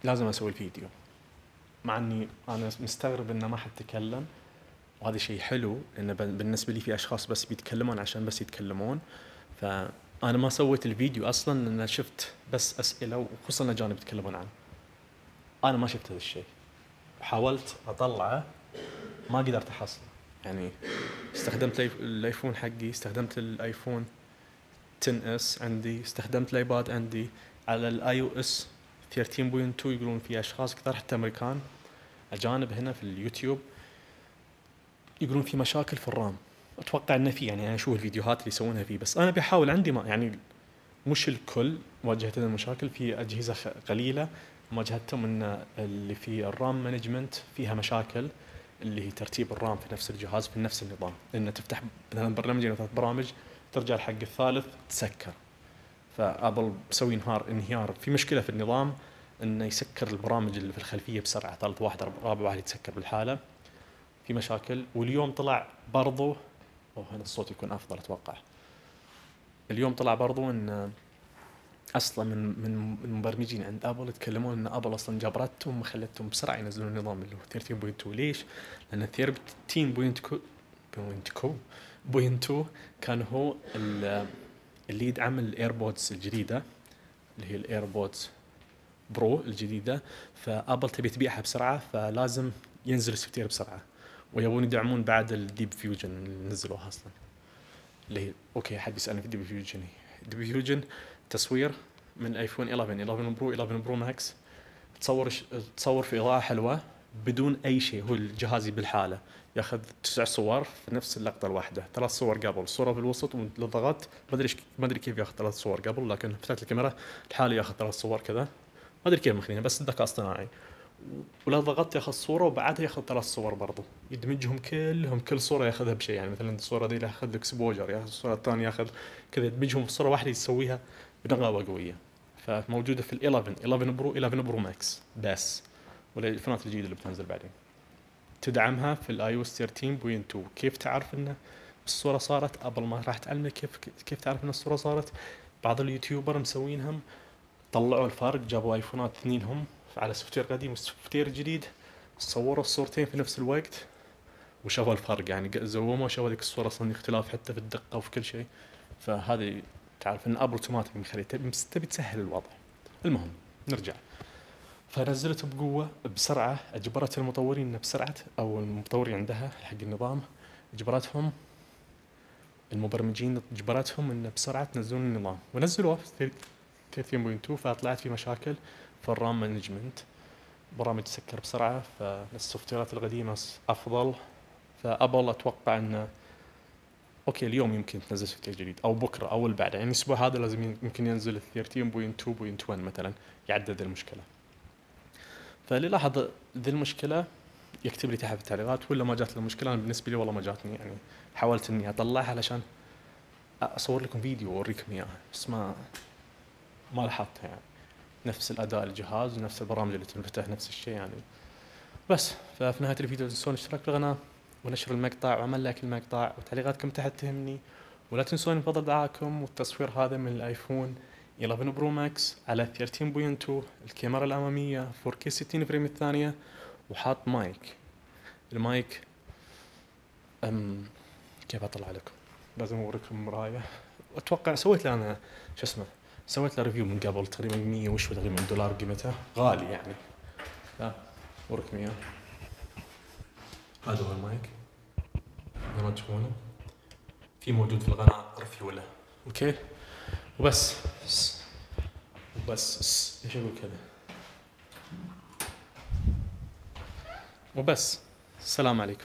لازم اسوي الفيديو، مع اني انا مستغرب انه ما حد تكلم، وهذا شيء حلو انه بالنسبه لي في اشخاص بس بيتكلمون عشان بس يتكلمون. فانا ما سويت الفيديو اصلا لان شفت بس اسئله وخصوصا الاجانب يتكلمون عنه. انا ما شفت هذا الشيء، حاولت اطلعه ما قدرت احصله. يعني استخدمت الايفون حقي، استخدمت الايفون 10 اس عندي، استخدمت الايباد عندي على الاي او اس 13.2. يقولون في اشخاص كثار حتى امريكان اجانب هنا في اليوتيوب يقولون في مشاكل في الرام. اتوقع انه في، يعني انا اشوف الفيديوهات اللي يسوونها فيه، بس انا بحاول عندي ما يعني مش الكل واجهت المشاكل. في اجهزه قليله واجهتهم ان اللي في الرام مانجمنت فيها مشاكل، اللي هي ترتيب الرام في نفس الجهاز في نفس النظام، ان تفتح مثلا برنامجين او 3 برامج ترجع الحق الثالث تسكر. فابل مسوي انهيار في مشكله في النظام انه يسكر البرامج اللي في الخلفيه بسرعه، ثالث واحد رابع واحد يتسكر بالحاله، في مشاكل. واليوم طلع برضو، هنا الصوت يكون افضل اتوقع. اليوم طلع برضو ان اصلا من المبرمجين عند ابل يتكلمون ان ابل اصلا جبرتهم وخلتهم بسرعه ينزلون النظام اللي هو 13.2. ليش؟ لان 13.2 كان هو اللي يدعم الايربودز الجديده، اللي هي الايربودز برو الجديده. فابل تبي تبيعها بسرعه، فلازم ينزل السوفت وير بسرعه، ويبون يدعمون بعد الديب فيوجن اللي نزلوها اصلا. اللي هي اوكي، حد يسالني في الديب فيوجن. الديب فيوجن تصوير من ايفون 11 برو 11 برو ماكس، تصور في اضاءه حلوه بدون اي شيء. هو الجهاز بالحاله ياخذ 9 صور في نفس اللقطه الواحده، 3 صور قبل، صوره في الوسط، ولو ضغطت ما ادري كيف ياخذ 3 صور قبل، لكن فتحت الكاميرا الحالي ياخذ 3 صور كذا، ما ادري كيف مخلينها، بس الذكاء اصطناعي. ولو ضغطت ياخذ صوره وبعدها ياخذ 3 صور برضو، يدمجهم كلهم، كل صوره ياخذها بشيء. يعني مثلا الصوره دي ياخذ اكسبوجر، ياخذ الصوره الثانيه ياخذ كذا، يدمجهم في صوره واحده يسويها بنغاوه قويه. فموجوده في ال 11 برو 11 برو ماكس بس، والايفونات الجديده اللي بتنزل بعدين تدعمها في الاي او اس 13.2. كيف تعرف ان الصوره صارت؟ ابل ما راح تعلمك كيف تعرف ان الصوره صارت. بعض اليوتيوبر مسوينهم، طلعوا الفارق، جابوا ايفونات اثنينهم على سوفت وير قديم وسوفت وير جديد، صوروا الصورتين في نفس الوقت وشافوا الفرق. يعني زوموا وشافوا ذيك الصوره اصلا اختلاف حتى في الدقه وفي كل شيء. فهذه تعرف ان ابل اوتوماتيك مخلي تبي تسهل الوضع. المهم نرجع. فنزلت بقوه بسرعه، اجبرت المطورين بسرعه، او المطورين عندها حق النظام اجبرتهم، المبرمجين اجبرتهم ان بسرعه تنزلون النظام، ونزلوه في 13.2. فطلعت في مشاكل في الرام مانجمنت، برامج تسكر بسرعه، فالسوفت ويرات القديمه افضل. فابل اتوقع انه اوكي اليوم يمكن تنزل سوفت وير جديد، او بكره او اللي بعده، يعني الاسبوع هذا لازم يمكن ينزل 13.2.1 مثلا يعدل المشكله. فاللي لاحظ ذي المشكله يكتب لي تحت في التعليقات، ولا ما جات له مشكله. انا بالنسبه لي والله ما جاتني، يعني حاولت اني اطلعها علشان اصور لكم فيديو واوريكم اياها، بس ما لاحظتها. يعني نفس الاداء الجهاز ونفس البرامج اللي تنفتح نفس الشيء يعني. بس ففي نهايه الفيديو لا تنسون الاشتراك في القناه ونشر المقطع وعمل لايك المقطع، وتعليقاتكم تحت تهمني. ولا تنسون بفضل دعائكم. والتصوير هذا من الايفون 11 برو ماكس على 13.2، الكاميرا الاماميه 4K 60 فريم الثانيه، وحاط مايك. المايك كيف اطلع لكم؟ لازم اوريكم مرايه. اتوقع سويت له انا سويت له ريفيو من قبل، تقريبا 100 وشو تقريبا دولار قيمته، غالي يعني. لا اوريكم اياه. هذا هو المايك زي ما تشوفونه، في موجود في القناه ريفيو له. اوكي وبس ايش اقول كذا وبس. السلام عليكم.